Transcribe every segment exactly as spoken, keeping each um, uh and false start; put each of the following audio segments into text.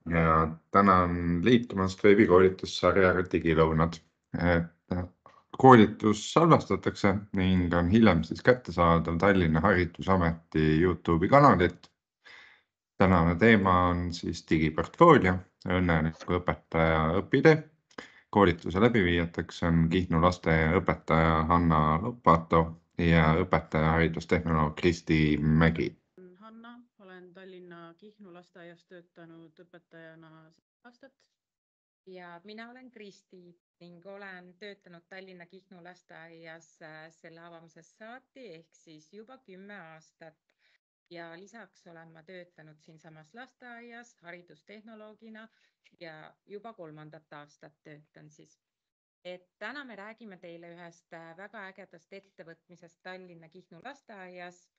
ja tänan liitumast veebikoolitussarjaga Digilõunad. Et koolitus salvestatakse ning on hiljem siis kättesaadav Tallinna Haridusameti YouTube'i kanalit. Tänane teema on siis digiportfoolio, õnneliku õpetaja õpitee. Koolituse läbiviijateks on Kihnu lasteaiaõpetaja Hanna Lopato ja õpetaja haridustehnoloog Kristi Mägi. Hanna, olen Tallinna Kihnu lasteaias töötanud õpetajana aastat. Ja mina olen Kristi ning olen töötanud Tallinna Kihnu lasteaias selle avamisest saati ehk siis juba kümme aastat. Ja lisaks olen ma töötanud siinsamas lasteaias haridustehnoloogina ja juba kolmandat aastat töötan siis. Et täna me räägime teile ühest väga ägedast ettevõtmisest Tallinna Kihnu lasteaias,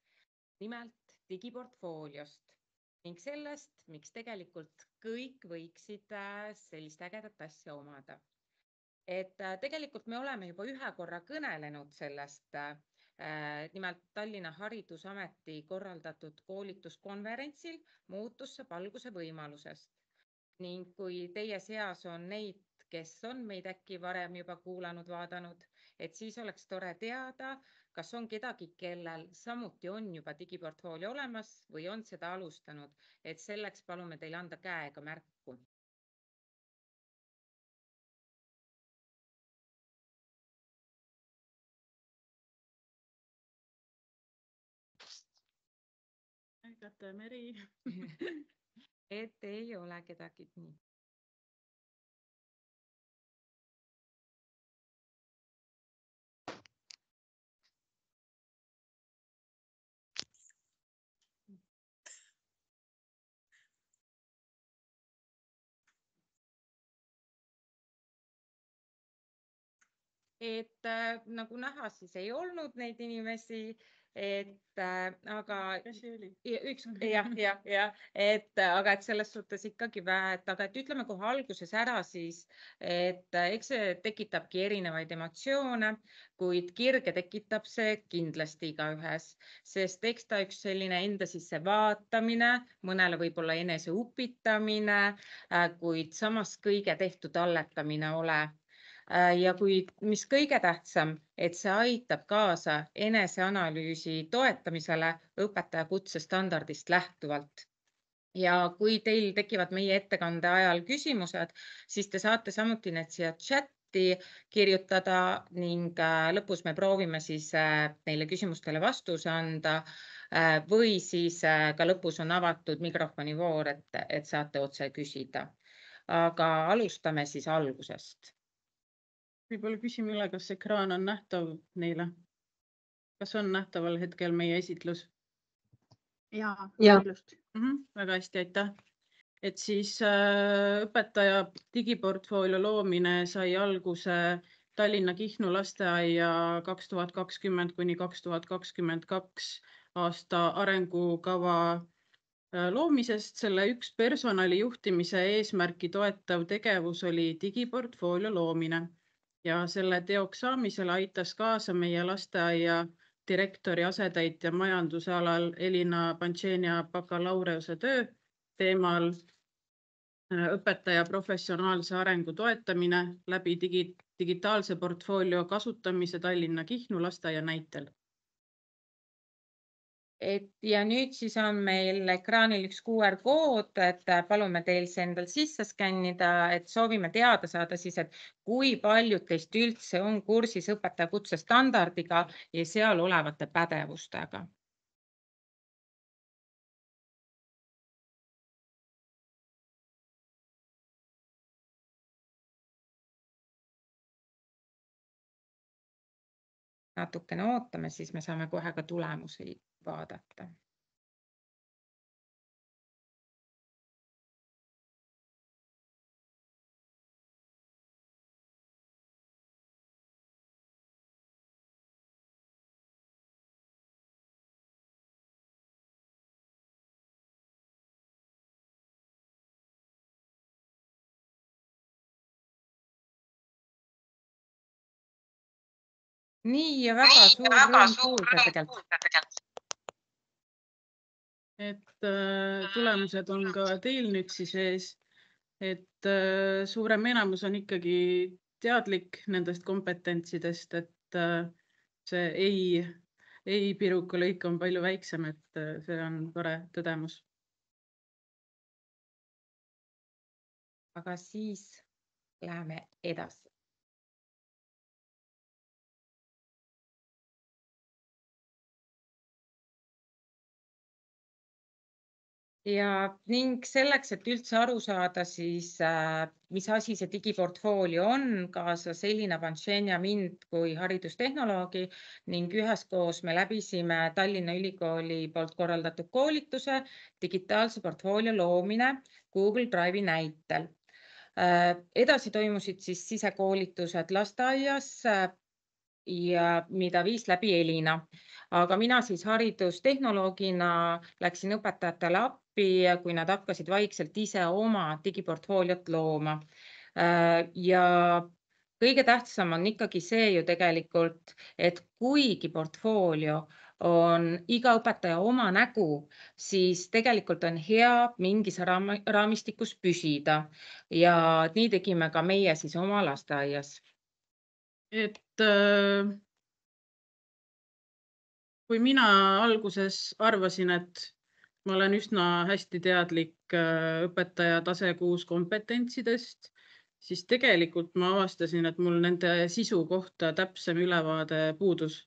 nimelt digiportfooliost ning sellest, miks tegelikult kõik võiksid sellist ägedat asja omada. Et tegelikult me oleme juba ühe korra kõnelenud sellest, nimelt Tallinna Haridusameti korraldatud koolituskonverentsil muutus saab alguse võimalusest. Ning kui teie seas on neid, kes on meid äkki varem juba kuulanud, vaadanud, et siis oleks tore teada, kas on kedagi, kellel samuti on juba digiportfoolio olemas või on seda alustanud, et selleks palume teil anda käega märku. Käte Meri. Et ei ole kedagi nii. Et äh, nagu näha, siis ei olnud neid inimesi, et äh, aga üks, jah, jah, jah, et aga et selles suhtes ikkagi vähe, et aga et ütleme kohe alguses ära siis, et eks see tekitabki erinevaid emotsioone, kuid kirge tekitab see kindlasti igaühes, sest eks ta üks selline enda sisse vaatamine, mõnele võib-olla enese upitamine, kuid samas kõige tehtud alletamine ole. Ja kui, mis kõige tähtsam, et see aitab kaasa eneseanalüüsi toetamisele õpetaja kutsestandardist lähtuvalt. Ja kui teil tekivad meie ettekande ajal küsimused, siis te saate samuti need siia chatti kirjutada ning lõpus me proovime siis neile küsimustele vastuse anda või siis ka lõpus on avatud mikrofonivoor, et, et saate otse küsida. Aga alustame siis algusest. Võib-olla küsime üle, kas ekraan on nähtav neile? Kas on nähtaval hetkel meie esitlus? Ja, ja. Mm -hmm, väga hästi, aitäh. Et siis äh, õpetaja digiportfoolio loomine sai alguse Tallinna Kihnu lasteaia kaks tuhat kakskümmend kuni kaks tuhat kakskümmend kaks aasta arengukava loomisest. Selle üks personali juhtimise eesmärki toetav tegevus oli digiportfoolio loomine. Ja selle teoks saamisel aitas kaasa meie lasteaia direktori asetäitja majanduse alal Elina Pantšenia bakalaureuse töö teemal õpetaja professionaalse arengu toetamine läbi digi, digitaalse portfoolio kasutamise Tallinna Kihnu lasteaia näitel. Et ja nüüd siis on meil ekraanil üks Q R kood, et palume teil see endal sisse skännida, et soovime teada saada siis, et kui paljud teist üldse on kursis õpetaja kutsestandardiga ja seal olevate pädevustega. Natukene ootame, siis me saame kohe ka tulemusi vaadata. Nii ja väga suur rõõm kuulda tegelikult. Et äh, tulemused on ka teil nüüd siis ees et äh, suurem enamus on ikkagi teadlik nendest kompetentsidest, et äh, see ei, ei piruka lõik on palju väiksem, et äh, see on tore tõdemus. Aga siis läheme edasi. Ja ning selleks, et üldse aru saada, siis äh, mis asi see digiportfoolio on, kaasas Elina Panšen ja mind kui haridustehnoloogi ning üheskoos me läbisime Tallinna Ülikooli poolt korraldatud koolituse digitaalse portfoolio loomine Google Drive'i näitel. Äh, edasi toimusid siis sisekoolitused lasteaias äh, ja mida viis läbi Elina. Aga mina siis haridustehnoloogina läksin õpetajatele appi, kui nad hakkasid vaikselt ise oma digiportfooliot looma. Ja kõige tähtsam on ikkagi see ju tegelikult, et kuigi portfoolio on iga õpetaja oma nägu, siis tegelikult on hea mingis raamistikus püsida. Ja nii tegime ka meie siis oma lasteaias. Et äh, kui mina alguses arvasin, et ma olen üsna hästi teadlik äh, õpetaja tase kuus kompetentsidest, siis tegelikult ma avastasin, et mul nende sisu kohta täpsem ülevaade puudus.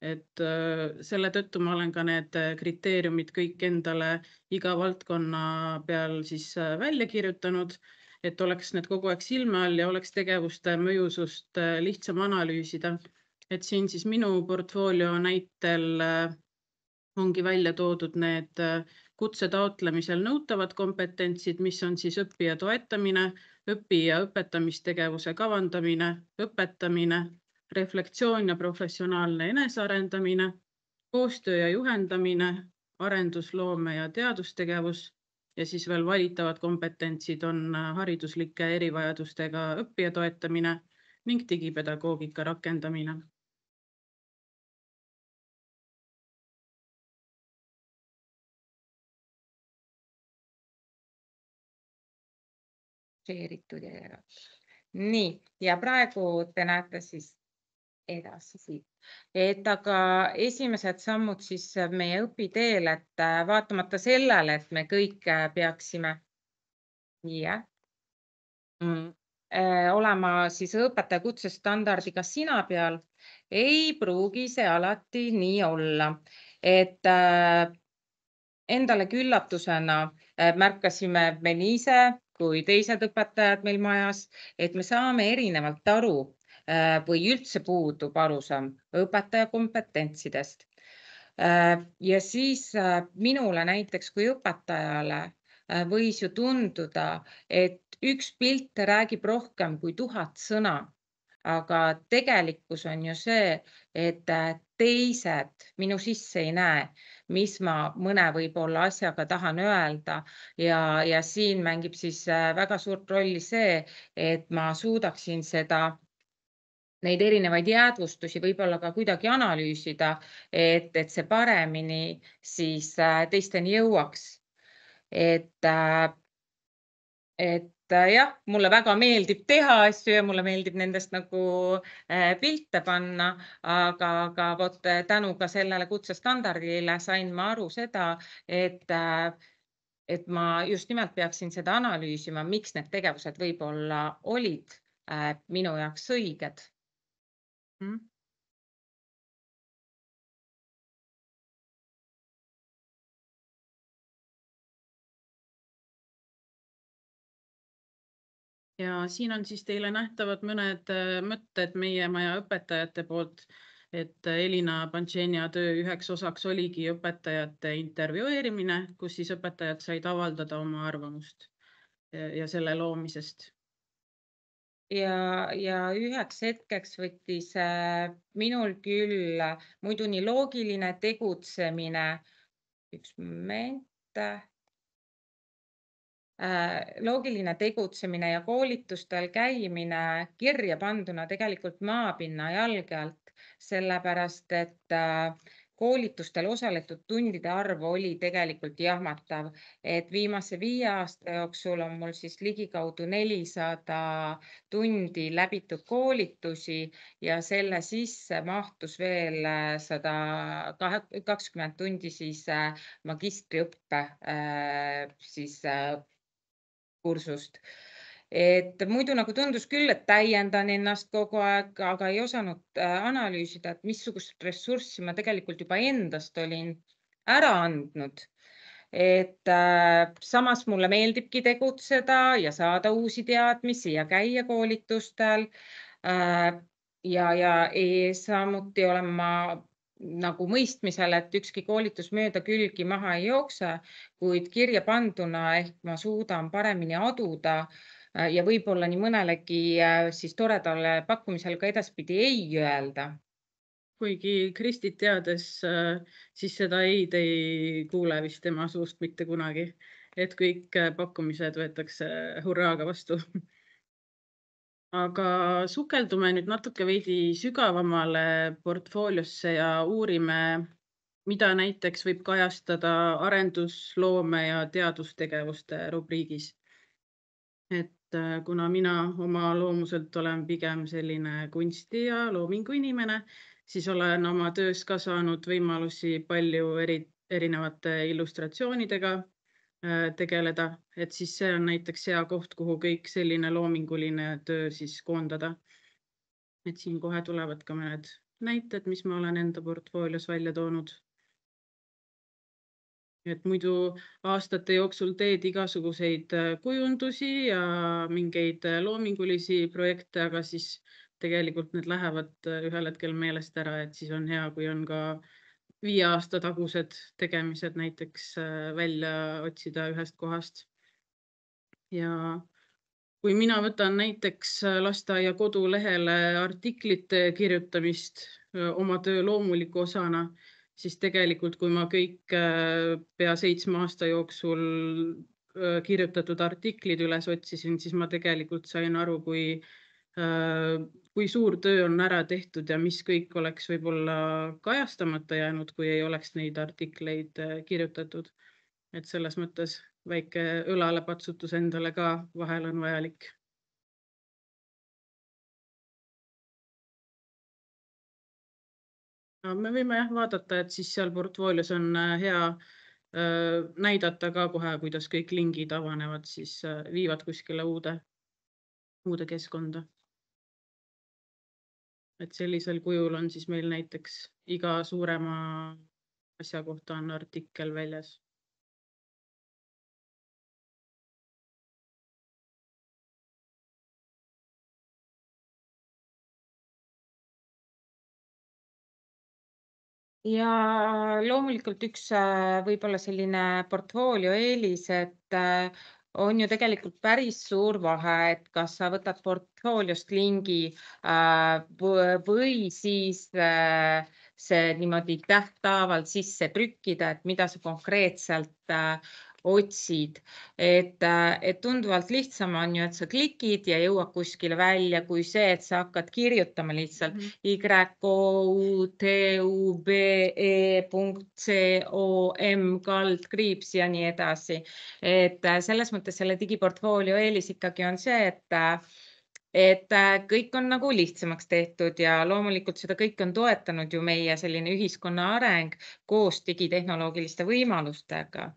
Et äh, selle tõttu ma olen ka need kriteeriumid kõik endale iga valdkonna peal siis äh, välja kirjutanud, et oleks need kogu aeg silme all ja oleks tegevuste mõjusust äh, lihtsam analüüsida. Et siin siis minu portfoolio näitel äh, ongi välja toodud need äh, kutse taotlemisel nõutavad kompetentsid, mis on siis õppija toetamine, õpi- ja õpetamistegevuse kavandamine, õpetamine, reflektsioon ja professionaalne enesearendamine, koostöö ja juhendamine, arendusloome ja teadustegevus ja siis veel valitavad kompetentsid on hariduslike erivajadustega õppija toetamine ning digipedagoogika rakendamine. Nii, ja praegu te näete siis edasi siit. Et aga esimesed sammud siis meie õpiteel, et vaatamata sellele, et me kõik peaksime ja, mm, olema siis õpetaja kutsestandardiga sina peal, ei pruugi see alati nii olla. Et äh, endale küllatusena äh, märkasime me nii ise kui teised õpetajad meil majas, et me saame erinevalt aru äh, või üldse puudub arusaam õpetaja kompetentsidest. Äh, ja siis äh, minule näiteks kui õpetajale äh, võis ju tunduda, et üks pilt räägib rohkem kui tuhat sõna. Aga tegelikkus on ju see, et teised minu sisse ei näe, mis ma mõne võib-olla asjaga tahan öelda ja, ja siin mängib siis väga suurt rolli see, et ma suudaksin seda, neid erinevaid jäädvustusi võib-olla ka kuidagi analüüsida, et, et see paremini siis teisteni jõuaks. Et, et jah, mulle väga meeldib teha asju ja mulle meeldib nendest nagu pilte panna, aga, aga vot tänu ka sellele kutsestandardile sain ma aru seda, et, et ma just nimelt peaksin seda analüüsima, miks need tegevused võib-olla olid minu jaoks õiged. Mm. Ja siin on siis teile nähtavad mõned mõtted meie maja õpetajate poolt, et Elina Panšenia töö üheks osaks oligi õpetajate intervjueerimine, kus siis õpetajad said avaldada oma arvamust ja selle loomisest. Ja, ja üheks hetkeks võttis minul küll muidu nii loogiline tegutsemine, üks moment, loogiline tegutsemine ja koolitustel käimine kirja panduna tegelikult maapinna jalge alt, sellepärast et koolitustel osaletud tundide arv oli tegelikult jahmatav, et viimase viie aasta jooksul on mul siis ligikaudu nelisada tundi läbitud koolitusi ja selle sisse mahtus veel sada kakskümmend tundi siis magistriõppe siis kursust. Et muidu nagu tundus küll, et täiendan ennast kogu aeg, aga ei osanud analüüsida, et missugust ressurssi ma tegelikult juba endast olin ära andnud. Et samas mulle meeldibki tegutseda ja saada uusi teadmisi ja käia koolitustel. Ja, ja samuti olen ma nagu mõistmisel, et ükski koolitus mööda külgi maha ei jookse, kuid kirja panduna ehk ma suudan paremini aduda ja võib-olla nii mõnelegi siis toredale pakkumisel ka edaspidi ei öelda. Kuigi Kristit teades, siis seda ei te ei kuule vist tema suust mitte kunagi, et kõik pakkumised võetakse hurraaga vastu. Aga sukeldume nüüd natuke veidi sügavamale portfooliosse ja uurime, mida näiteks võib kajastada arendusloome ja teadustegevuste rubriigis. Et kuna mina oma loomuselt olen pigem selline kunsti ja loomingu inimene, siis olen oma töös ka saanud võimalusi palju eri, erinevate illustratsioonidega tegeleda, et siis see on näiteks hea koht, kuhu kõik selline loominguline töö siis koondada. Et siin kohe tulevad ka mõned näited, mis ma olen enda portfoolios välja toonud. Et muidu aastate jooksul teed igasuguseid kujundusi ja mingeid loomingulisi projekte, aga siis tegelikult need lähevad ühel hetkel meelest ära, et siis on hea, kui on ka viie aasta tagused tegemised näiteks välja otsida ühest kohast. Ja kui mina võtan näiteks lasteaia kodulehele artiklite kirjutamist oma töö loomuliku osana, siis tegelikult, kui ma kõik pea seitsme aasta jooksul kirjutatud artiklid üles otsisin, siis ma tegelikult sain aru, kui, kui suur töö on ära tehtud ja mis kõik oleks võib-olla kajastamata jäänud, kui ei oleks neid artikleid kirjutatud. Et selles mõttes väike õlalepatsutus endale ka vahel on vajalik. Me võime jah vaadata, et siis seal portfoolios on hea näidata ka kohe, kuidas kõik lingid avanevad, siis viivad kuskile uude, uude keskkonda. Et sellisel kujul on siis meil näiteks iga suurema asja kohta on artikkel väljas. Ja loomulikult üks võib-olla selline portfoolio eelis, et on ju tegelikult päris suur vahe, et kas sa võtad portfooliost lingi või siis see niimoodi tähtaavalt sisse trükkida, et mida sa konkreetselt otsid. Et, et tunduvalt lihtsam on ju, et sa klikid ja jõuad kuskile välja, kui see, et sa hakkad kirjutama lihtsalt mm -hmm. Y O U T U B E punkt C O M kaldkriips ja nii edasi. Et selles mõttes selle digiportfoolio eelis ikkagi on see, et et kõik on nagu lihtsamaks tehtud ja loomulikult seda kõik on toetanud ju meie selline ühiskonna areng koos digitehnoloogiliste võimalustega.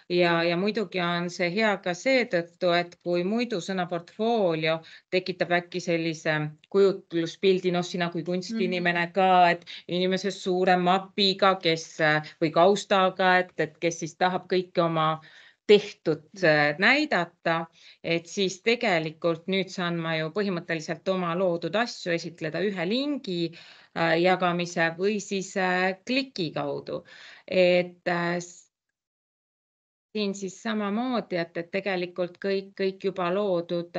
Ja, ja muidugi on see hea ka seetõttu, et kui muidu sõna portfoolio tekitab äkki sellise kujutluspildi, noh sina kui kunstinimene ka, et inimese suure mapiga, kes või kaustaga, et, et kes siis tahab kõike oma tehtud näidata, et siis tegelikult nüüd saan ma ju põhimõtteliselt oma loodud asju esitleda ühe lingi jagamise või siis kliki kaudu. Et siin siis samamoodi, et, et tegelikult kõik, kõik juba loodud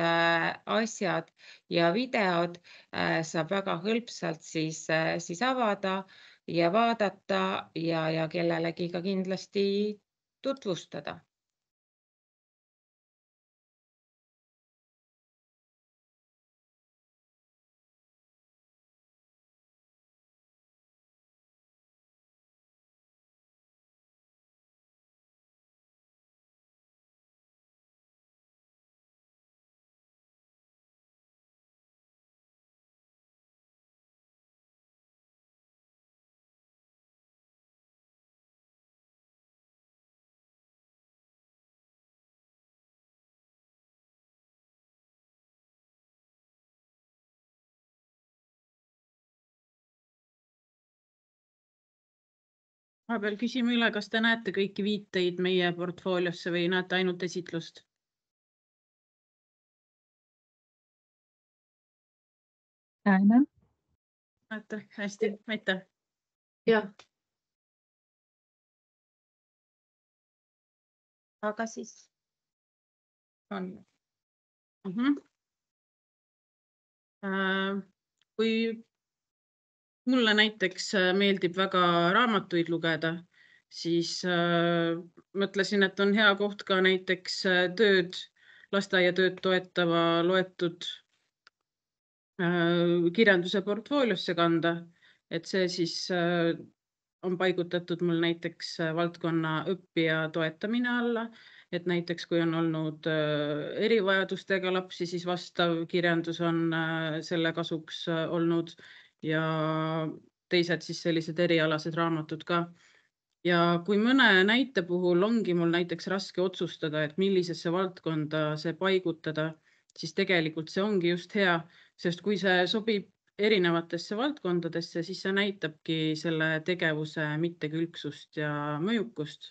asjad ja videod saab väga hõlpsalt siis, siis avada ja vaadata ja, ja kellelegi ka kindlasti tutvustada. Vahepeal küsime üle, kas te näete kõiki viiteid meie portfooliosse või näete ainult esitlust? Näeme. Näete, hästi, aitäh. Jah. Aga siis on. Mhm. Äh, Kui mulle näiteks äh, meeldib väga raamatuid lugeda, siis äh, mõtlesin, et on hea koht ka näiteks äh, tööd, lasteaiatööd toetava loetud äh, kirjanduse portfooliosse kanda, et see siis äh, on paigutatud mul näiteks äh, valdkonna õppija toetamine alla, et näiteks kui on olnud äh, erivajadustega lapsi, siis vastav kirjandus on äh, selle kasuks äh, olnud ja teised siis sellised erialased raamatud ka. Ja kui mõne näite puhul ongi mul näiteks raske otsustada, et millisesse valdkonda see paigutada, siis tegelikult see ongi just hea, sest kui see sobib erinevatesse valdkondadesse, siis see näitabki selle tegevuse mittekülgsust ja mõjukust.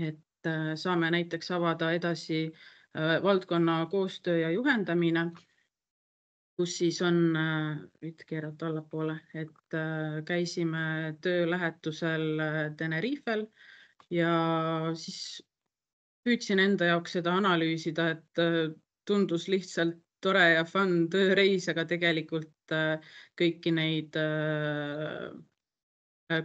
Et äh, saame näiteks avada edasi äh, valdkonna koostöö ja juhendamine, kus siis on, võid keerata allapoole, et äh, käisime töölähetusel äh, Tenerifel ja siis püüdsin enda jaoks seda analüüsida, et äh, tundus lihtsalt tore ja fun tööreis, aga tegelikult äh, kõiki neid äh,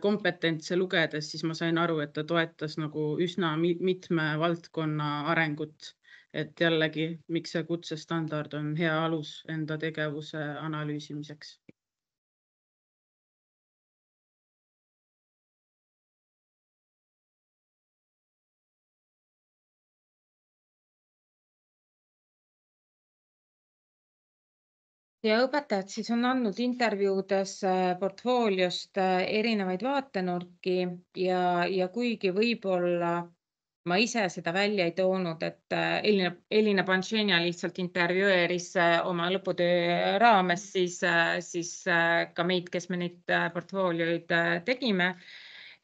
kompetentse lugedes, siis ma sain aru, et ta toetas nagu üsna mi- mitme valdkonna arengut. Et jällegi, miks see kutsestandard on hea alus enda tegevuse analüüsimiseks. Ja õpetajad siis on andnud intervjuudes äh, portfooliost äh, erinevaid vaatenurki ja, ja kuigi võib-olla ma ise seda välja ei toonud, et äh, Elina, Elina Panšenia lihtsalt intervjueeris äh, oma lõputöö raames siis, äh, siis äh, ka meid, kes me neid äh, portfoolioid äh, tegime.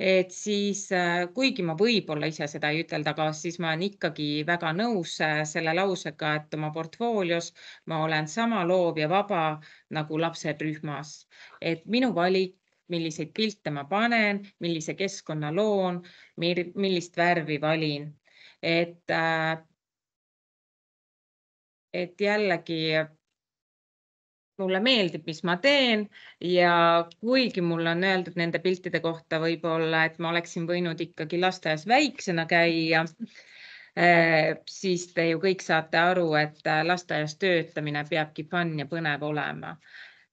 Et siis äh, kuigi ma võib-olla ise seda ei ütelda, aga siis ma olen ikkagi väga nõus äh, selle lausega, et oma portfoolios ma olen sama loov ja vaba nagu lapsed rühmas. Et minu valik, milliseid pilte ma panen, millise keskkonna loon, mir- millist värvi valin. Et, äh, et jällegi mulle meeldib, mis ma teen ja kuigi mulle on öeldud nende piltide kohta võib-olla, et ma oleksin võinud ikkagi lasteaias väiksena käia, eh, siis te ju kõik saate aru, et äh, lasteaias töötamine peabki fun ja põnev olema.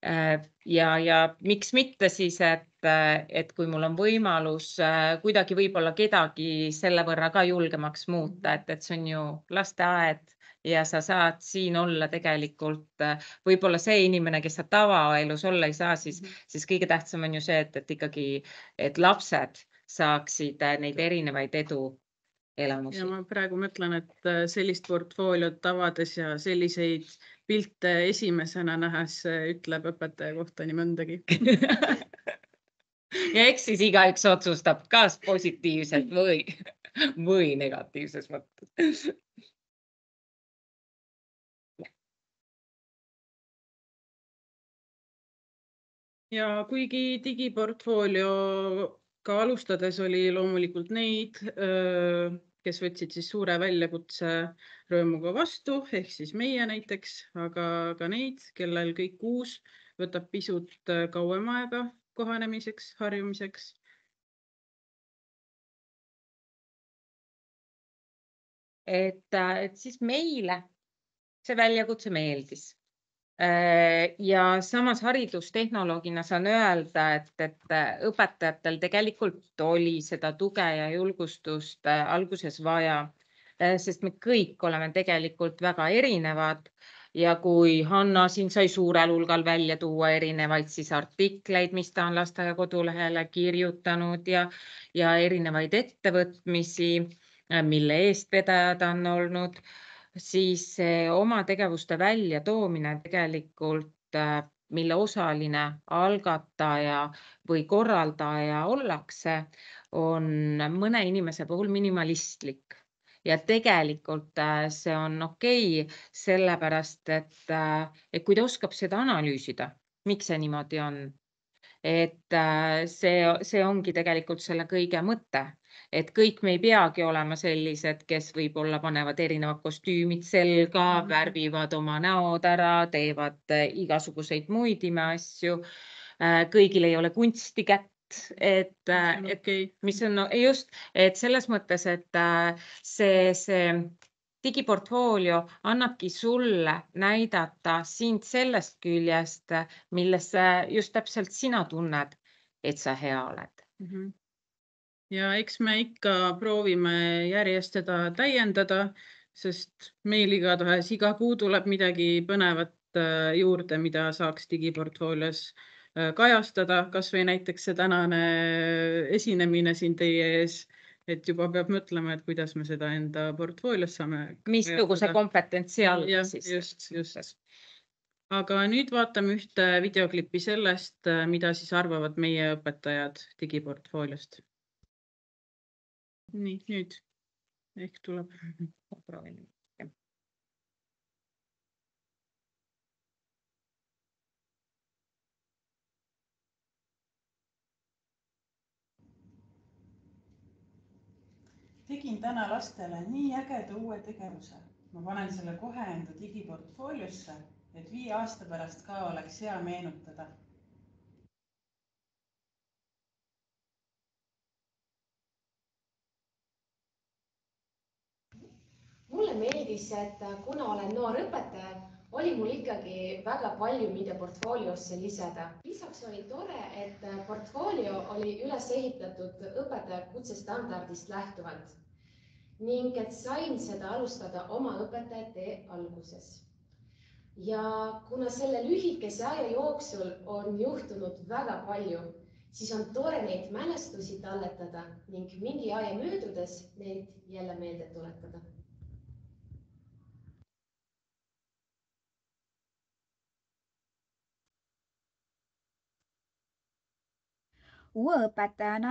Eh, Ja, ja miks mitte siis, et, äh, et kui mul on võimalus äh, kuidagi võib-olla kedagi selle võrra ka julgemaks muuta, et, et see on ju lasteaed ja sa saad siin olla tegelikult äh, võib-olla see inimene, kes sa tavaelus olla ei saa, siis, siis kõige tähtsam on ju see, et, et ikkagi, et lapsed saaksid äh, neid erinevaid edu elamusi. Ja ma praegu mõtlen, et äh, sellist portfooliot avades ja selliseid pilte esimesena nähes äh, ütleb õpetaja kohta nii mõndagi. Ja eks siis igaüks otsustab, kas positiivselt või, või negatiivses mõttes. Ja kuigi digiportfoolioga alustades oli loomulikult neid, öö, kes võtsid siis suure väljakutse rõõmuga vastu, ehk siis meie näiteks, aga ka neid, kellel kõik uus võtab pisut äh, kauem aega kohanemiseks, harjumiseks. Et, äh, et siis meile see väljakutse meeldis. Äh, Ja samas haridustehnoloogina saan öelda, et, et äh, õpetajatel tegelikult oli seda tuge ja julgustust äh, alguses vaja, äh, sest me kõik oleme tegelikult väga erinevad. Ja kui Hanna siin sai suurel hulgal välja tuua erinevaid siis artikleid, mis ta on lasteaia kodulehele kirjutanud ja, ja erinevaid ettevõtmisi, äh, mille eestvedajad on olnud, siis see oma tegevuste välja toomine tegelikult äh, mille osaline algataja või korraldaja ollakse, on mõne inimese puhul minimalistlik. Ja tegelikult see on okei, sellepärast, et, et kui ta oskab seda analüüsida, miks see niimoodi on, et see, see ongi tegelikult selle kõige mõte, et kõik me ei peagi olema sellised, kes võib-olla panevad erinevad kostüümid selga, värvivad oma näod ära, teevad igasuguseid muid imeasju. Kõigil ei ole kunsti kätt, et, et okei. mis on just, et selles mõttes, et see, see digiportfoolio annabki sulle näidata sind sellest küljest, milles just täpselt sina tunned, et sa hea oled. Mhm. Ja eks me ikka proovime järjest seda täiendada, sest meil igatahes iga kuu tuleb midagi põnevat juurde, mida saaks digiportfoolios kajastada, kas või näiteks see tänane esinemine siin teie ees, et juba peab mõtlema, et kuidas me seda enda portfoolios saame. Missuguse kompetentsi all Ja, siis. just, just. Aga nüüd vaatame ühte videoklippi sellest, mida siis arvavad meie õpetajad digiportfooliost. Nii, nüüd ehk tuleb. Proovin. Tegin täna lastele nii ägeda uue tegevuse. Ma panen selle kohe enda digiportfooliosse, et viie aasta pärast ka oleks hea meenutada. Mulle meeldis, et kuna olen noor õpetaja, oli mul ikkagi väga palju, mida portfooliosse lisada. Lisaks oli tore, et portfoolio oli üles ehitatud õpetaja kutsestandardist lähtuvalt ning et sain seda alustada oma õpetajate alguses. Ja kuna selle lühikese aja jooksul on juhtunud väga palju, siis on tore neid mälestusi talletada ning mingi aja möödudes neid jälle meelde tuletada. Uue õpetajana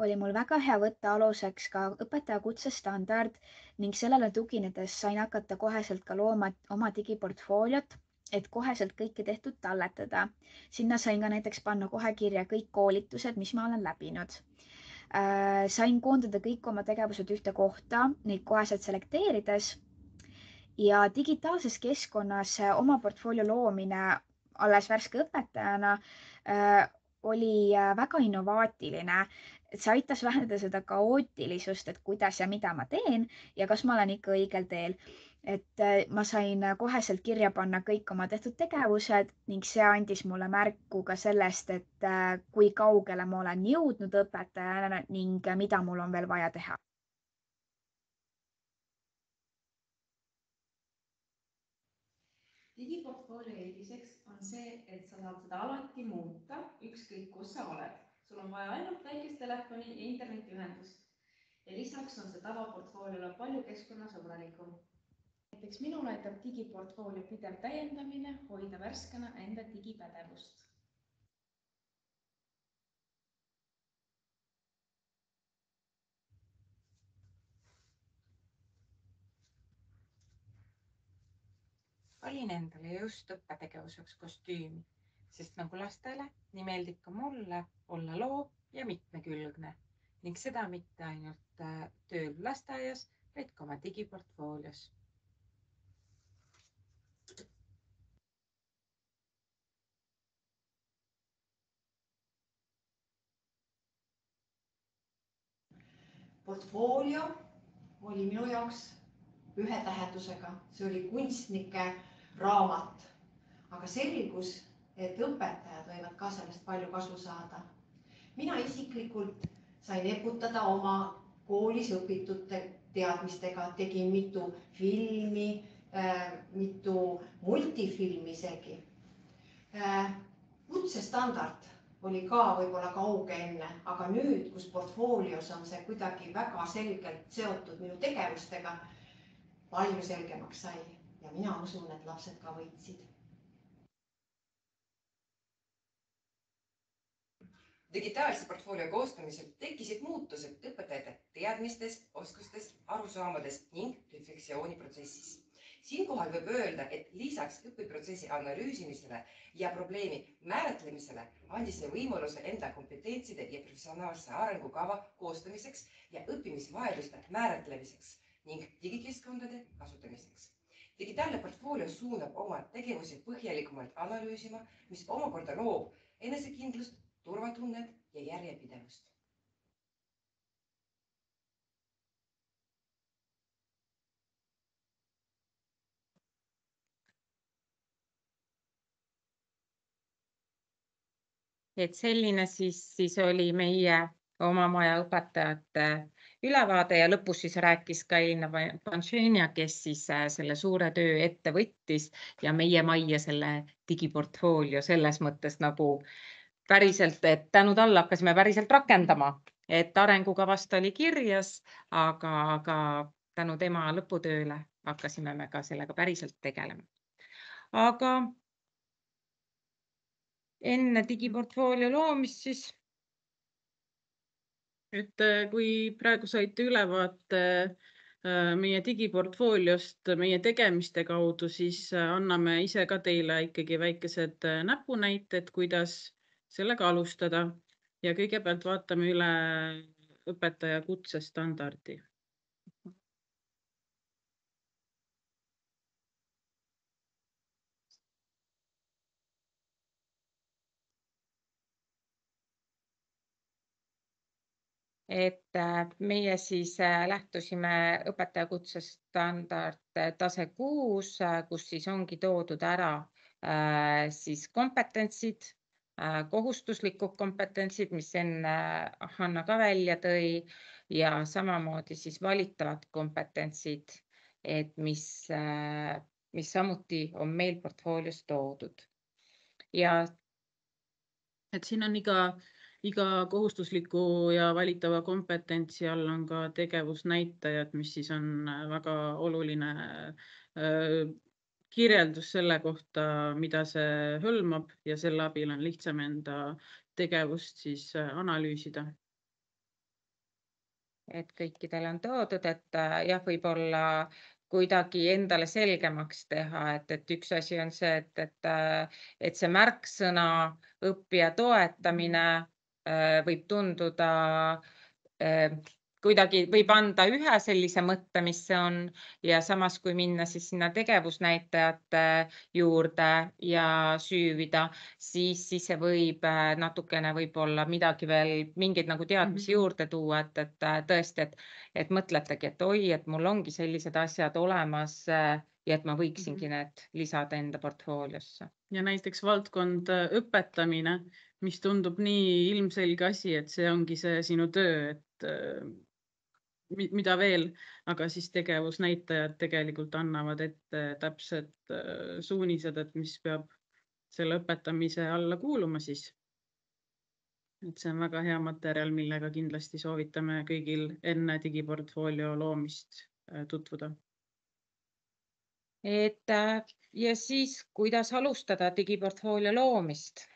oli mul väga hea võtta aluseks ka õpetaja kutsestandard ning sellele tuginedes sain hakata koheselt ka looma oma digiportfooliot, et koheselt kõike tehtud talletada. Sinna sain ka näiteks panna kohe kirja kõik koolitused, mis ma olen läbinud. Sain koondada kõik oma tegevused ühte kohta, neid koheselt selekteerides ja digitaalses keskkonnas oma portfoolio loomine alles värske õpetajana oli väga innovaatiline, et see aitas vähendada seda kaootilisust, et kuidas ja mida ma teen ja kas ma olen ikka õigel teel. Et ma sain koheselt kirja panna kõik oma tehtud tegevused ning see andis mulle märku ka sellest, et kui kaugele ma olen jõudnud õpetajana ning mida mul on veel vaja teha. Digiportfoolio eeliseks on see, et sa saad seda alati muuta, ükskõik kus sa oled. Sul on vaja ainult väikest telefoni ja internetiühendust. Ja lisaks on see tavaportfooliole palju keskkonnasõbralikum. Näiteks minul aitab digiportfoolio pidev täiendamine hoida värskena enda digipädevust. Valin endale just õppetegevuseks kostüümi, sest nagu lastele, nii meeldib ka mulle olla loo ja mitmekülgne ning seda mitte ainult tööl lasteaias, vaid ka oma digiportfoolios. Portfoolio oli minu jaoks ühe tähendusega, see oli kunstnike raamat, aga selgus, et õpetajad võivad ka sellest palju kasu saada. Mina isiklikult sain eputada oma koolis õpitud teadmistega, tegin mitu filmi, mitu multifilmi isegi. Kutsestandard oli ka võib-olla kauge enne, aga nüüd, kus portfoolios on see kuidagi väga selgelt seotud minu tegevustega, palju selgemaks sai ja mina usun, et lapsed ka võitsid. Digitaalse portfoolio koostamisel tekkisid muutused õpetajate teadmistes, oskustes, arusaamades ning refleksiooniprotsessis. Siinkohal võib öelda, et lisaks õpiprotsessi analüüsimisele ja probleemi määratlemisele andis see võimaluse enda kompetentside ja professionaalse arengukava koostamiseks ja õppimisvajaduste määratlemiseks ning digikeskkondade kasutamiseks. Digitaalne portfoolio suunab oma tegevusi põhjalikumalt analüüsima, mis omakorda loob enesekindlust, turvatunnet ja järjepidevust. Et selline siis, siis oli meie oma maja õpetajate ülevaade ja lõpus siis rääkis ka Elina Panšenia, kes siis selle suure töö ette võttis ja meie majja selle digiportfoolio selles mõttes nagu päriselt, et tänu talle hakkasime päriselt rakendama, et arengukavast oli kirjas, aga, aga tänu tema lõputööle hakkasime me ka sellega päriselt tegelema. Aga enne digiportfoolio loomist siis et kui praegu saite ülevaate meie digiportfooliost meie tegemiste kaudu, siis anname ise ka teile ikkagi väikesed näpunäited, kuidas sellega alustada ja kõigepealt vaatame üle õpetaja kutsestandardi. et meie siis lähtusime õpetaja kutsestandard tase kuus, kus siis ongi toodud ära siis kompetentsid, kohustuslikud kompetentsid, mis enne Hanna ka välja tõi ja samamoodi siis valitavad kompetentsid, et mis, mis samuti on meil portfoolios toodud. Ja et siin on iga Iga kohustusliku ja valitava kompetentsi all on ka tegevusnäitajad, mis siis on väga oluline kirjeldus selle kohta, mida see hõlmab ja selle abil on lihtsam enda tegevust siis analüüsida. Et kõikidele on toodud, et jah, võib-olla kuidagi endale selgemaks teha, et, et üks asi on see, et, et, et see märksõna õppija toetamine võib tunduda, kuidagi võib anda ühe sellise mõtte, mis see on ja samas kui minna siis sinna tegevusnäitajate juurde ja süüvida, siis, siis see võib natukene võib-olla midagi veel, mingeid nagu teadmisi juurde tuua, et, et tõesti, et, et mõtletegi, et oi, et mul ongi sellised asjad olemas ja et ma võiksingi need lisada enda portfooliosse. Ja näiteks valdkond õpetamine, mis tundub nii ilmselge asi, et see ongi see sinu töö, et mida veel, aga siis tegevusnäitajad tegelikult annavad ette täpsed suunised, et mis peab selle õpetamise alla kuuluma siis. Et see on väga hea materjal, millega kindlasti soovitame kõigil enne digiportfoolio loomist tutvuda. Et ja siis, kuidas alustada digiportfoolio loomist?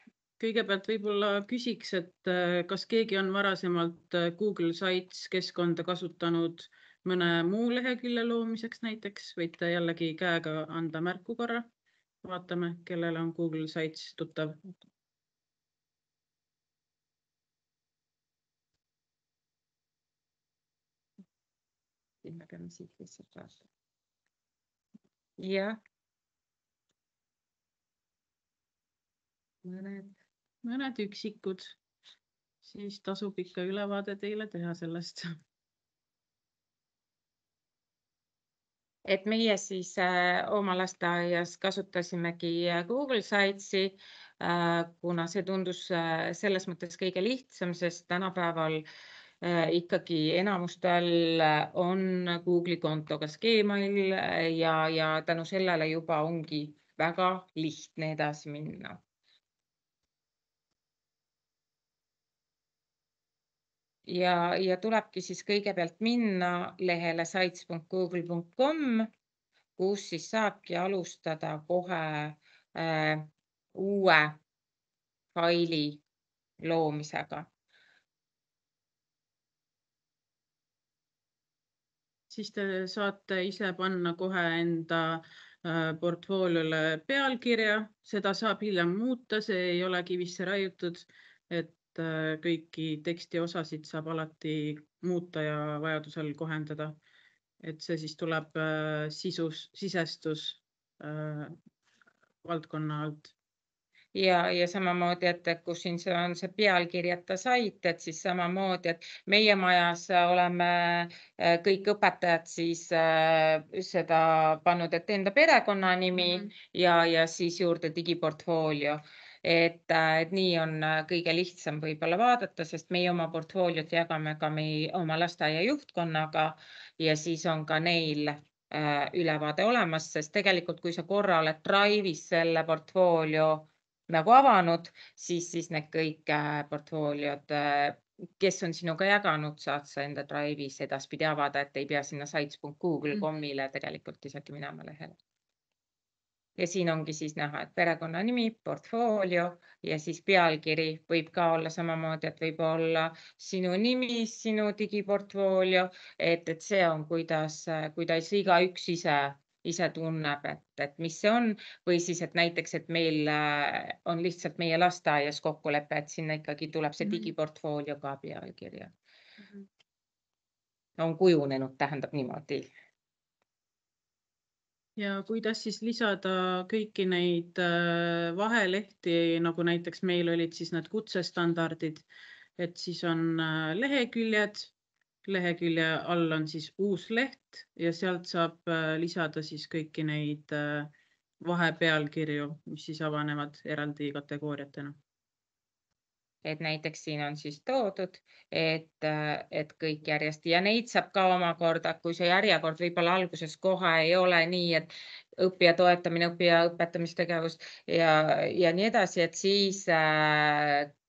Kõigepealt võib-olla küsiks, et kas keegi on varasemalt Google Sites keskkonda kasutanud mõne muu lehekülje loomiseks näiteks, võite jällegi käega anda märku korra. Vaatame, kellele on Google Sites tuttav. Me peame siit lihtsalt vaatama. Jah. Mõned. Mõned üksikud, siis tasub ikka ülevaade teile teha sellest. Et meie siis äh, oma lasteaias kasutasimegi Google Sitesi, äh, kuna see tundus äh, selles mõttes kõige lihtsam, sest tänapäeval äh, ikkagi enamustel on Google'i konto kas Gmail ja, ja tänu sellele juba ongi väga lihtne edasi minna. Ja, ja tulebki siis kõigepealt minna lehele sites punkt google punkt com, kus siis saabki alustada kohe äh, uue faili loomisega. Siis te saate ise panna kohe enda portfooliole pealkirja, seda saab hiljem muuta, see ei ole kivisse raiutud, et kõiki teksti osasid saab alati muuta ja vajadusel kohendada. Et see siis tuleb sisus, sisestus valdkonna alt. Ja, ja samamoodi, et kui siin see on see pealkirjata sait, et siis samamoodi, et meie majas oleme kõik õpetajad siis seda pannud, et enda perekonnanimi mm -hmm. ja, ja siis juurde digiportfoolio. Et, et nii on kõige lihtsam võib-olla vaadata, sest meie oma portfooliot jagame ka meie oma lasteaia juhtkonnaga ja siis on ka neil ülevaade olemas, sest tegelikult kui sa korra oled Drive'is selle portfoolio nagu avanud, siis, siis need kõik portfooliod, kes on sinuga jaganud, saad sa enda Drive'is edaspidi avada, et ei pea sinna sites punkt google punkt com'ile tegelikult isegi minema lehele. Ja siin ongi siis näha, et perekonna nimi, portfoolio ja siis pealkiri võib ka olla samamoodi, et võib olla sinu nimi, sinu digiportfoolio, et, et see on, kuidas, kuidas iga üks ise ise tunneb, et, et mis see on või siis, et näiteks, et meil on lihtsalt meie lasteaias kokkulepe, et sinna ikkagi tuleb see digiportfoolio ka pealkirja. Mm-hmm. On kujunenud, tähendab niimoodi. Ja kuidas siis lisada kõiki neid vahelehti, nagu näiteks meil olid siis need kutsestandardid, et siis on leheküljed, lehekülje all on siis uus leht ja sealt saab lisada siis kõiki neid vahepealkirju, mis siis avanevad eraldi kategooriatena. Et näiteks siin on siis toodud, et, et kõik järjest ja neid saab ka omakorda, kui see järjekord võib-olla alguses kohe ei ole nii, et õppija toetamine, õppija õpetamistegevus ja, ja nii edasi, et siis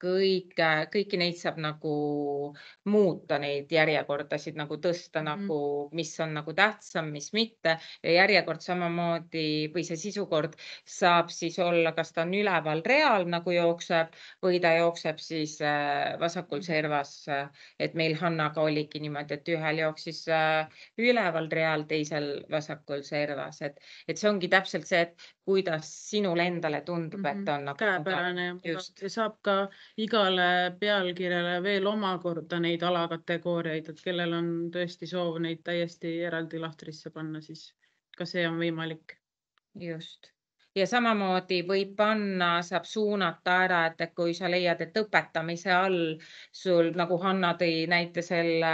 kõik, kõiki neid saab nagu muuta, neid järjekordasid nagu tõsta mm, -hmm. nagu, mis on nagu tähtsam, mis mitte ja järjekord samamoodi või see sisukord saab siis olla, kas ta on üleval real nagu jookseb või ta jookseb siis vasakul servas, et meil Hannaga oligi niimoodi, et ühel jooksis üleval real, teisel vasakul servas, et, et see ongi täpselt see, et kuidas sinule endale tundub, mm -hmm. et on nagu käepärane ja saab ka igale pealkirjale veel omakorda neid alakategooriaid, et kellel on tõesti soov neid täiesti eraldi lahtrisse panna, siis ka see on võimalik. Just. Ja samamoodi võib panna, saab suunata ära, et kui sa leiad, et õpetamise all sul, nagu Hanna tõi näite selle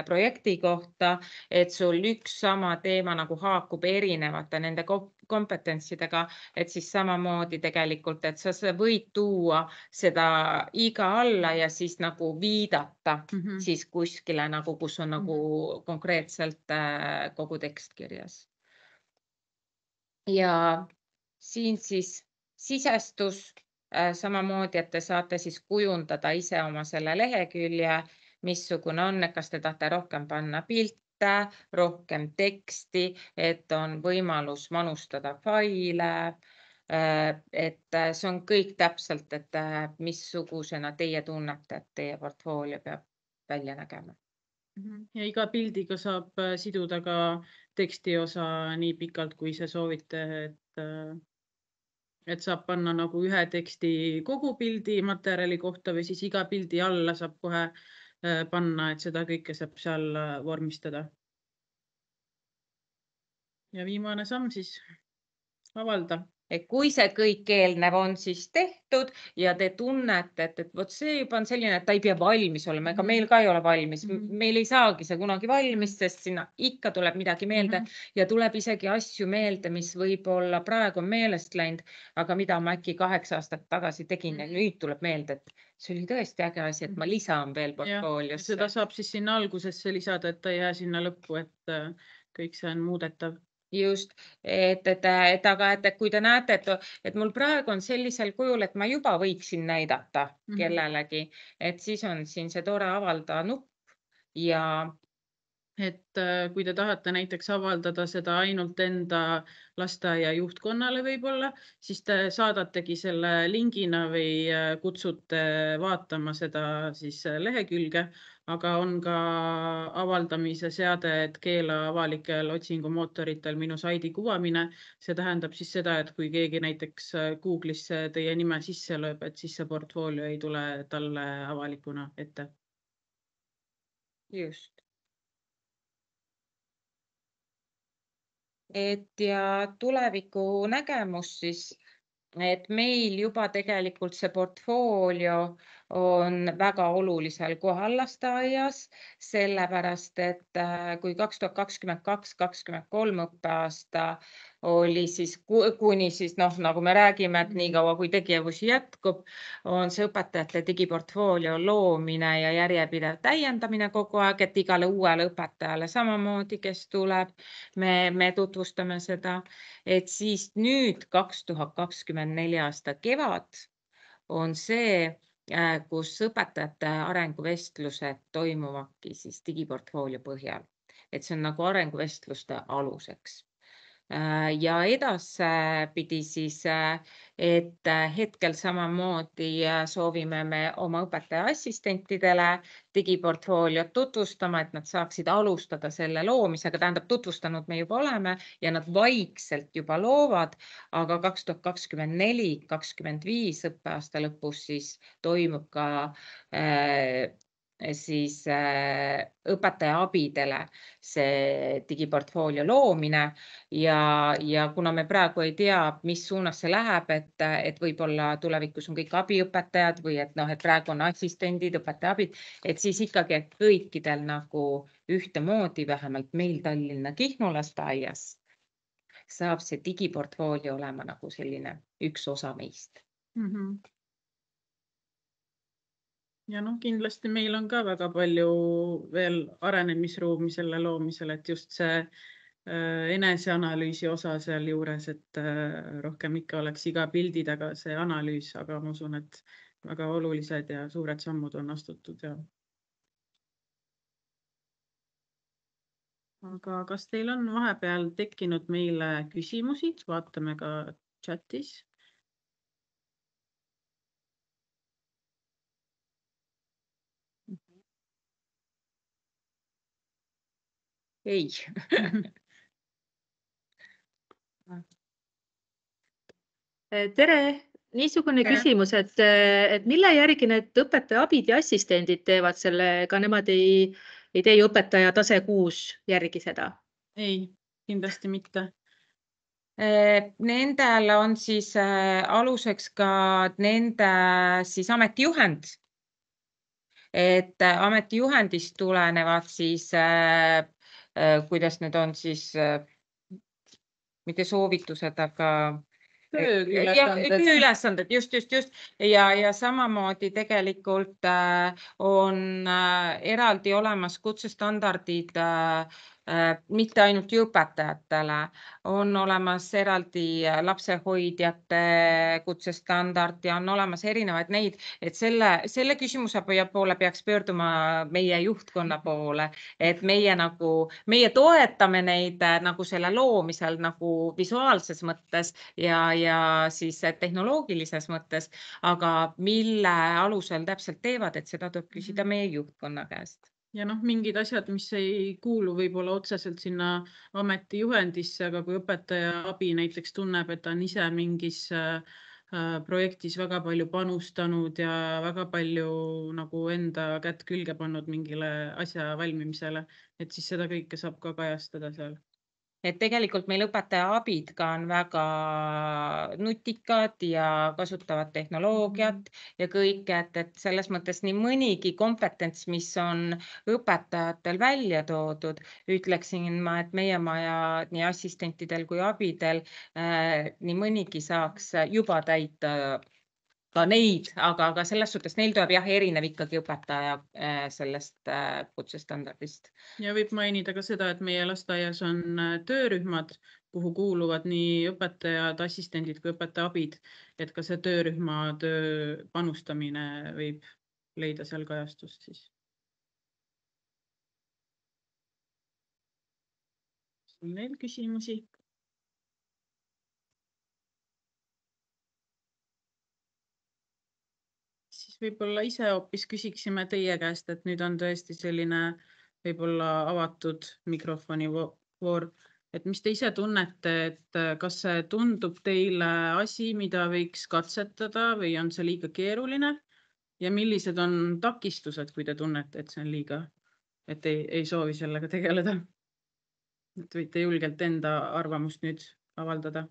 projekti kohta, et sul üks sama teema nagu haakub erinevate nende kompetentsidega, et siis samamoodi tegelikult, et sa võid tuua seda iga alla ja siis nagu viidata mm -hmm. siis kuskile nagu, kus on nagu mm -hmm. konkreetselt kogu tekst kirjas. Ja siin siis sisestus samamoodi, et te saate siis kujundada ise oma selle lehekülje, missugune on, et kas te tahate rohkem panna pilte, rohkem teksti, et on võimalus manustada faile, et see on kõik täpselt, et missugusena teie tunnete, et teie portfoolio peab välja nägema. Ja iga pildiga saab siduda ka teksti osa nii pikalt, kui see soovite, et et saab panna nagu ühe teksti kogu pildi materjali kohta või siis iga pildi alla saab kohe panna, et seda kõike saab seal vormistada. Ja viimane samm siis avalda. Et kui see kõik eelnev on siis tehtud ja te tunnete, et, et vot see juba on selline, et ta ei pea valmis olema, ega meil ka ei ole valmis. Mm-hmm. Meil ei saagi see kunagi valmis, sest sinna ikka tuleb midagi meelde mm-hmm. ja tuleb isegi asju meelde, mis võib-olla praegu on meelest läinud, aga mida ma äkki kaheksa aastat tagasi tegin mm-hmm. ja nüüd tuleb meelde, et see oli tõesti äge asi, et ma lisan veel portfooliosse. Seda saab siis sinna algusesse lisada, et ta ei jää sinna lõppu, et kõik see on muudetav. Just, et, et, et, aga et kui te näete, et, et mul praegu on sellisel kujul, et ma juba võiksin näidata mm-hmm. kellelegi, et siis on siin see tore avalda nupp ja et äh, kui te tahate näiteks avaldada seda ainult enda lasteaia juhtkonnale võib-olla, siis te saadategi selle lingina või äh, kutsute vaatama seda siis äh, lehekülge, aga on ka avaldamise seade, et keela avalikel otsingumootoritel minu saidi kuvamine. See tähendab siis seda, et kui keegi näiteks äh, Google'isse teie nime sisse lööb, et siis see portfoolio ei tule talle avalikuna ette. Just. Et ja tuleviku nägemus siis, et meil juba tegelikult see portfoolio on väga olulisel kohal lasteaias, sellepärast et äh, kui kaks tuhat kakskümmend kaks kakskümmend kolm õppeaasta oli siis ku- kuni siis noh, nagu me räägime, et nii kaua kui tegevus jätkub, on see õpetajate digiportfoolio loomine ja järjepidev täiendamine kogu aeg, et igale uuele õpetajale samamoodi, kes tuleb, me, me tutvustame seda, et siis nüüd kaks tuhat kakskümmend neli aasta kevad on see, äh, kus õpetajate arenguvestlused toimuvadki siis digiportfoolio põhjal. Et see on nagu arenguvestluste aluseks. Äh, Ja edaspidi siis, äh, et äh, hetkel samamoodi äh, soovime me oma õpetaja assistentidele digiportfooliot tutvustama, et nad saaksid alustada selle loomisega, tähendab tutvustanud me juba oleme ja nad vaikselt juba loovad, aga kaks tuhat kakskümmend neli kakskümmend viis õppeaasta lõpus siis toimub ka äh, siis äh, õpetaja abidele see digiportfoolio loomine ja, ja kuna me praegu ei tea, mis suunas see läheb, et, et võib-olla tulevikus on kõik abiõpetajad või et noh, et praegu on assistendid, õpetaja abid, et siis ikkagi, et kõikidel nagu ühtemoodi, vähemalt meil Tallinna Kihnu lasteaias, saab see digiportfoolio olema nagu selline üks osa meist. Mm -hmm. Ja noh, kindlasti meil on ka väga palju veel arenemisruumi selle loomisel, et just see äh, eneseanalüüsi osa seal juures, et äh, rohkem ikka oleks iga pildi taga see analüüs, aga ma usun, et väga olulised ja suured sammud on astutud. Ja. Aga kas teil on vahepeal tekkinud meile küsimusi? Vaatame ka chatis. Ei. Tere, niisugune Tere. küsimus, et, et mille järgi need õpetaja abid ja assistendid teevad selle, ka nemad ei, ei tee ju õpetaja tase kuus järgi seda? Ei, kindlasti mitte. Nendel on siis aluseks ka nende siis ametijuhend. Et ametijuhendist tulenevad siis, kuidas need on siis, mitte soovitused, aga tööülesanded, just, just, just. Ja, ja samamoodi tegelikult on eraldi olemas kutsestandardid, mitte ainult ju õpetajatele, on olemas eraldi lapsehoidjate kutsestandard ja on olemas erinevaid neid, et selle, selle küsimuse poole peaks pöörduma meie juhtkonna poole, et meie nagu, meie toetame neid nagu selle loomisel nagu visuaalses mõttes ja, ja siis tehnoloogilises mõttes, aga mille alusel täpselt teevad, et seda tuleb küsida meie juhtkonna käest. Ja noh, mingid asjad, mis ei kuulu võib-olla otseselt sinna ametijuhendisse, aga kui õpetaja abi näiteks tunneb, et ta on ise mingis projektis väga palju panustanud ja väga palju nagu enda kätt külge pannud mingile asja valmimisele, et siis seda kõike saab ka kajastada seal. Et tegelikult meil õpetaja abid ka on väga nutikad ja kasutavad tehnoloogiat ja kõik, et, et selles mõttes nii mõnigi kompetents, mis on õpetajatel välja toodud, ütleksin ma, et meie maja nii assistentidel kui abidel äh, nii mõnigi saaks juba täita ka neid, aga, aga selles suhtes neil tuleb jah erinev ikkagi õpetaja äh, sellest äh, kutsestandardist. Ja võib mainida ka seda, et meie lasteaias on töörühmad, kuhu kuuluvad nii õpetajad, assistendid kui õpetaja abid, et ka see töörühma töö panustamine võib leida seal kajastust siis. On veel küsimusi? Siis võib-olla ise hoopis küsiksime teie käest, et nüüd on tõesti selline võib-olla avatud mikrofoni vo- voor, et mis te ise tunnete, et äh, kas see tundub teile asi, mida võiks katsetada või on see liiga keeruline ja millised on takistused, kui te tunnete, et see on liiga, et ei, ei soovi sellega tegeleda? Et võite julgelt enda arvamust nüüd avaldada.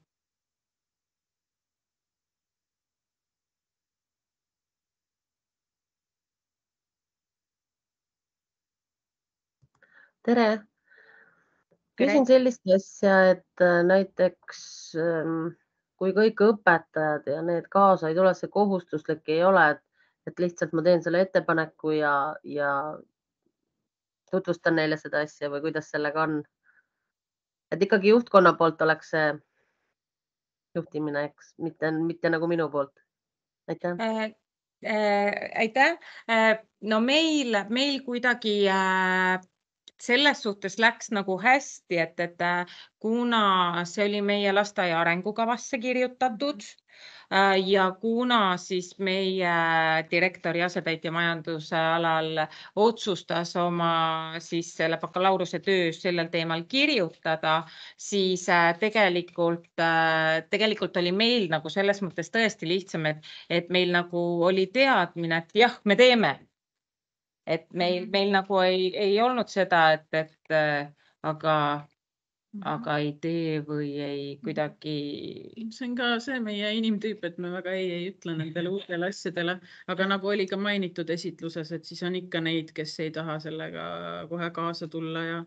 tere! Küsin sellist asja, et äh, näiteks ähm, kui kõik õpetajad ja need kaasa ei tule, see kohustuslik ei ole, et, et lihtsalt ma teen selle ettepaneku ja, ja tutvustan neile seda asja või kuidas sellega on? Et ikkagi juhtkonna poolt oleks see juhtimine, eks, mitte, mitte nagu minu poolt. Aitäh. Äh, äh, aitäh. Äh, no meil, meil kuidagi äh, selles suhtes läks nagu hästi, et, et äh, kuna see oli meie lasteaia arengukavasse kirjutatud äh, ja kuna siis meie direktori asetäitja majanduse alal otsustas oma siis selle bakalaureuse töö sellel teemal kirjutada, siis äh, tegelikult, äh, tegelikult oli meil nagu selles mõttes tõesti lihtsam, et, et meil nagu oli teadmine, et jah, me teeme. Et meil, meil nagu ei, ei olnud seda, et, et äh, aga, aga ei tee või ei kuidagi. See on ka see meie inimtüüp, et me väga ei, ei ütle nendele uutele asjadele, aga nagu oli ka mainitud esitluses, et siis on ikka neid, kes ei taha sellega kohe kaasa tulla ja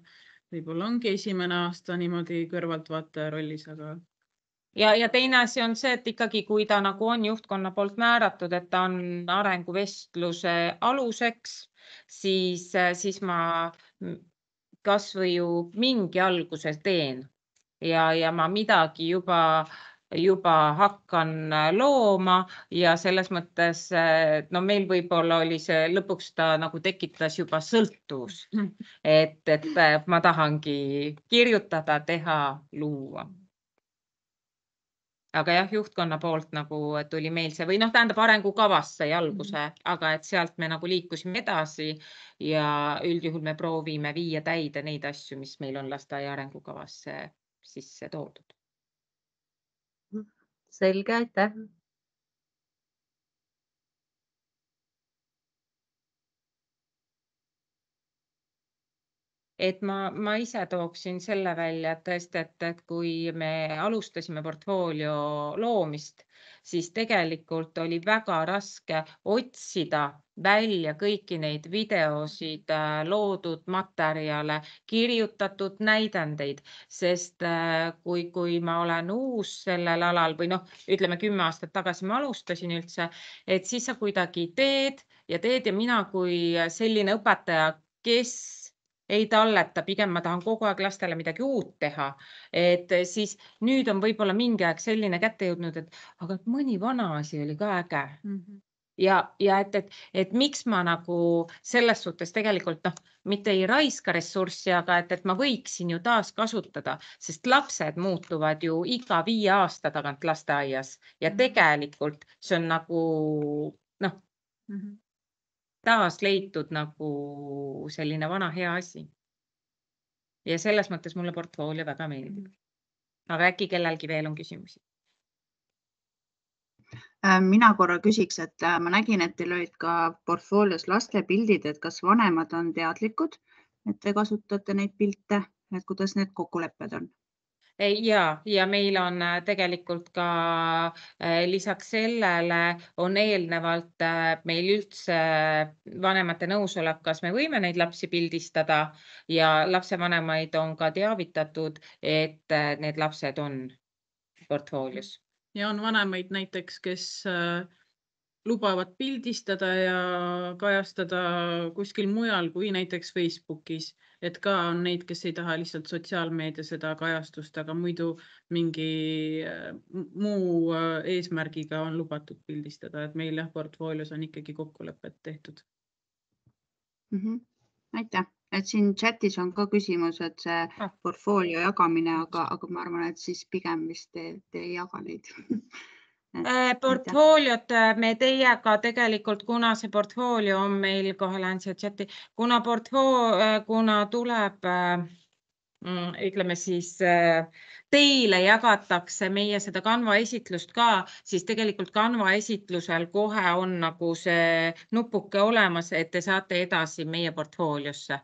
võib-olla ongi esimene aasta niimoodi kõrvaltvaataja rollis, aga Ja, ja teine asi on see, et ikkagi, kui ta nagu on juhtkonna poolt määratud, et ta on arenguvestluse aluseks, siis, siis ma kas või ju mingi alguse teen ja, ja ma midagi juba, juba hakkan looma ja selles mõttes, no meil võib-olla oli see, lõpuks ta nagu tekitas juba sõltuvust, et, et ma tahangi kirjutada, teha, luua. Aga jah, juhtkonna poolt nagu tuli meil see või noh, tähendab arengukavas sai alguse, mm. aga et sealt me nagu liikusime edasi ja üldjuhul me proovime viia täide neid asju, mis meil on lasteaia arengukavasse sisse toodud. Selge, aitäh. Et ma, ma ise tooksin selle välja, et tõesti, et, et kui me alustasime portfoolio loomist, siis tegelikult oli väga raske otsida välja kõiki neid videosid, loodud materjale, kirjutatud näidendeid, sest kui, kui ma olen uus sellel alal või noh, ütleme kümme aastat tagasi ma alustasin üldse, et siis sa kuidagi teed ja teed ja mina kui selline õpetaja, kes ei talleta, pigem ma tahan kogu aeg lastele midagi uut teha, et siis nüüd on võib-olla mingi aeg selline kätte jõudnud, et aga mõni vana asi oli ka äge. Mm-hmm. Ja, ja et, et, et miks ma nagu selles suhtes tegelikult noh, mitte ei raiska ressurssi, aga et, et ma võiksin ju taas kasutada, sest lapsed muutuvad ju iga viie aasta tagant lasteaias ja mm-hmm. tegelikult see on nagu noh, mm-hmm. taas leitud nagu selline vana hea asi. Ja selles mõttes mulle portfoolio väga meeldib. Aga äkki kellelgi veel on küsimusi? Mina korra küsiks, et ma nägin, et teil olid ka portfoolios laste pildid, et kas vanemad on teadlikud, et te kasutate neid pilte, et kuidas need kokkulepped on? Ja, ja meil on tegelikult ka lisaks sellele on eelnevalt meil üldse vanemate nõusolek, kas me võime neid lapsi pildistada ja lapsevanemaid on ka teavitatud, et need lapsed on portfoolios. Ja on vanemaid näiteks, kes lubavad pildistada ja kajastada kuskil mujal kui näiteks Facebookis, et ka on neid, kes ei taha lihtsalt sotsiaalmeedia seda kajastust, aga muidu mingi muu eesmärgiga on lubatud pildistada, et meil jah, portfoolios on ikkagi kokkulepped tehtud. Mm-hmm. Aitäh. et siin chatis on ka küsimus, et see Ah. portfoolio jagamine, aga, aga ma arvan, et siis pigem vist te, te ei jaga neid. Et, Äh, portfooliot äh, me teiega tegelikult, kuna see portfoolio on meil, kohe lähen siia chati, kuna portfool, kuna tuleb, äh, mm, ütleme siis, äh, teile jagatakse meie seda Canva esitlust ka, siis tegelikult Canva esitlusel kohe on nagu see nupuke olemas, et te saate edasi meie portfooliosse.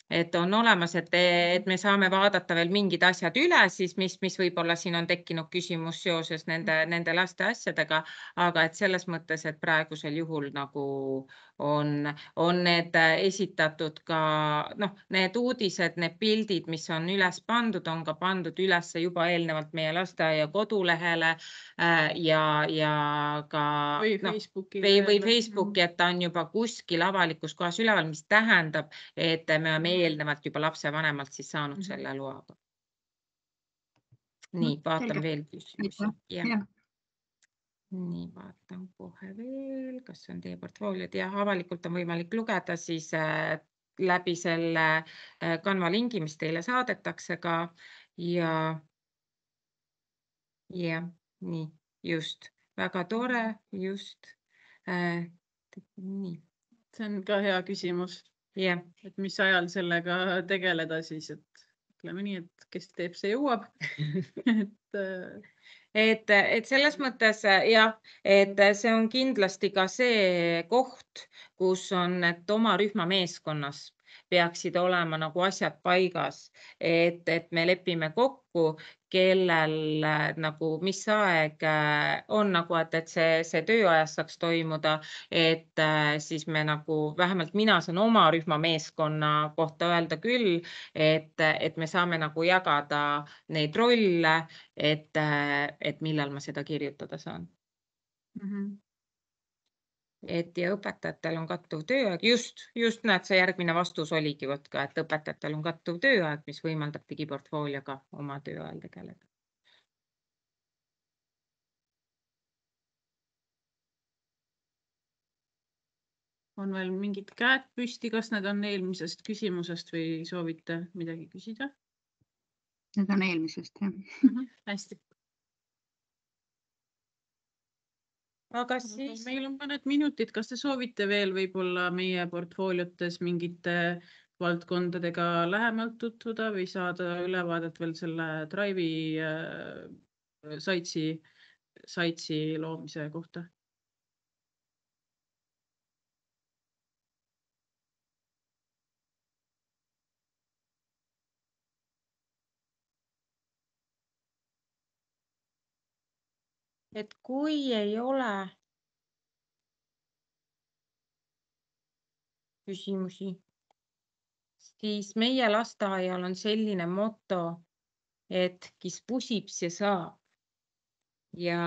Et on olemas, et, et me saame vaadata veel mingid asjad üle, siis mis, mis võib-olla siin on tekkinud küsimus seoses nende, nende laste asjadega, aga et selles mõttes, et praegusel juhul nagu on, on need esitatud ka, noh, need uudised, need pildid, mis on üles pandud, on ka pandud üles juba eelnevalt meie lasteaia kodulehele äh, ja, ja ka Või no, Facebooki või, või lehele. Facebooki, et ta on juba kuskil avalikus kohas üleval, mis tähendab, et me oleme eelnevalt juba lapsevanemalt siis saanud Mhm. selle loaga. Nii, vaatan selge. veel küsimusi. Aitäh. Jah. Jah. Nii, vaatan kohe veel, kas on teie portfooliod ja avalikult on võimalik lugeda siis äh, läbi selle äh, Canva lingi, mis teile saadetakse ka ja ja nii, just, väga tore, just äh, nii, See on ka hea küsimus, jah. et mis ajal sellega tegeleda siis, et ütleme nii, et kes teeb, see jõuab. et äh, Et, et selles mõttes jah, et see on kindlasti ka see koht, kus on, et oma rühma meeskonnas peaksid olema nagu asjad paigas, et, et me lepime kokku, kellel nagu mis aeg on nagu, et, et see, see tööajas saaks toimuda, et siis me nagu, vähemalt mina saan oma rühma meeskonna kohta öelda küll, et, et me saame nagu jagada neid rolle, et, et millal ma seda kirjutada saan. mm -hmm. Et ja õpetajatel on kattuv tööaeg, just, just näed, see järgmine vastus oligi võt ka, et õpetajatel on kattuv tööaeg, mis võimaldab digiportfoolioga oma tööajal tegeleda. On veel mingid käed püsti, kas need on eelmisest küsimusest või soovite midagi küsida? Need on eelmisest, jah. Mm -hmm. Hästi. Aga siis meil on mõned minutid, kas te soovite veel võib-olla meie portfooliotes mingite valdkondadega lähemalt tutvuda või saada ülevaadet veel selle Drive'i äh, saitsi, saitsi loomise kohta? et kui ei ole küsimusi, siis meie lasteaial on selline moto, et kes pusib, see saab. Ja,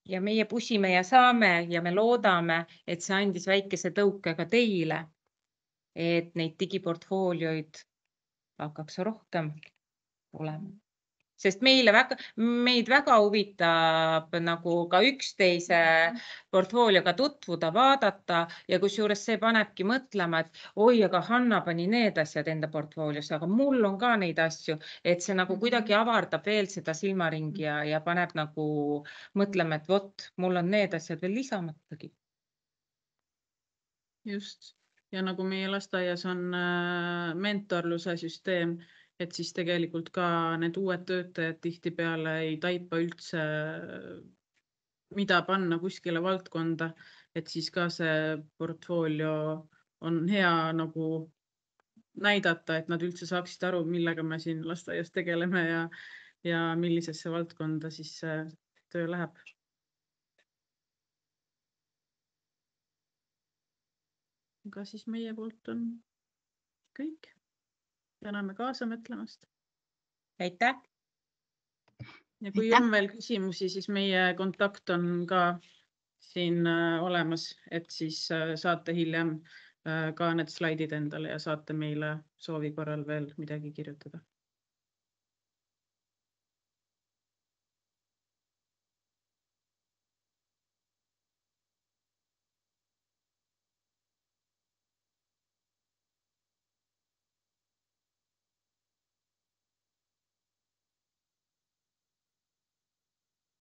ja meie pusime ja saame ja me loodame, et see andis väikese tõuke ka teile, et neid digiportfoolioid hakkaks rohkem olema. Sest meile väga, meid väga huvitab nagu ka üksteise portfoolioga tutvuda, vaadata ja kusjuures see panebki mõtlema, et oi, aga Hanna pani need asjad enda portfooliosse, aga mul on ka neid asju, et see nagu kuidagi avardab veel seda silmaringi ja, ja paneb nagu mõtlema, et vot, mul on need asjad veel lisamatagi. Just. Ja nagu meie lasteaias on mentorluse süsteem, et siis tegelikult ka need uued töötajad tihtipeale ei taipa üldse, mida panna kuskile valdkonda, et siis ka see portfoolio on hea nagu näidata, et nad üldse saaksid aru, millega me siin lasteaias tegeleme ja, ja millisesse valdkonda siis see töö läheb. Aga siis meie poolt on kõik. Täname kaasa mõtlemast. Aitäh! Ja kui on veel küsimusi, siis meie kontakt on ka siin olemas, et siis saate hiljem ka need slaidid endale ja saate meile soovi korral veel midagi kirjutada.